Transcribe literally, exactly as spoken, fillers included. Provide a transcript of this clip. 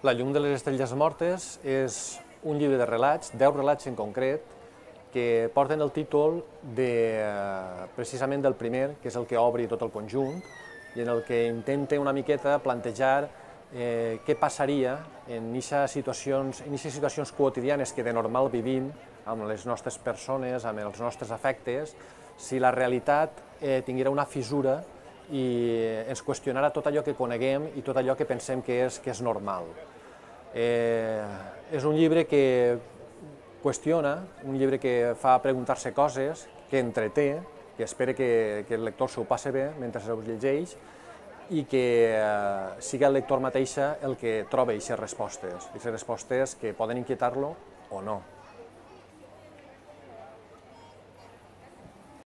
La llum de les estrelles mortes és un llibre de relats, deu relats en concret, que porten el títol de, precisament del primer, que és el que obri tot el conjunt, i en el que intenta una miqueta plantejar eh, què passaria en aquestes situacions, en aquestes situacions quotidianes que de normal vivim amb les nostres persones, amb els nostres afectes, si la realitat eh, tinguera una fissura i ens qüestionara tot allò que coneguem i tot allò que pensem que és, que és normal. Eh, és un llibre que qüestiona, un llibre que fa preguntar-se coses, que entreté, que espera que, que el lector s'ho passe bé mentre ho llegeix i que eh, siga el lector mateixa el que troba aquestes respostes, aquestes respostes que poden inquietar-lo o no.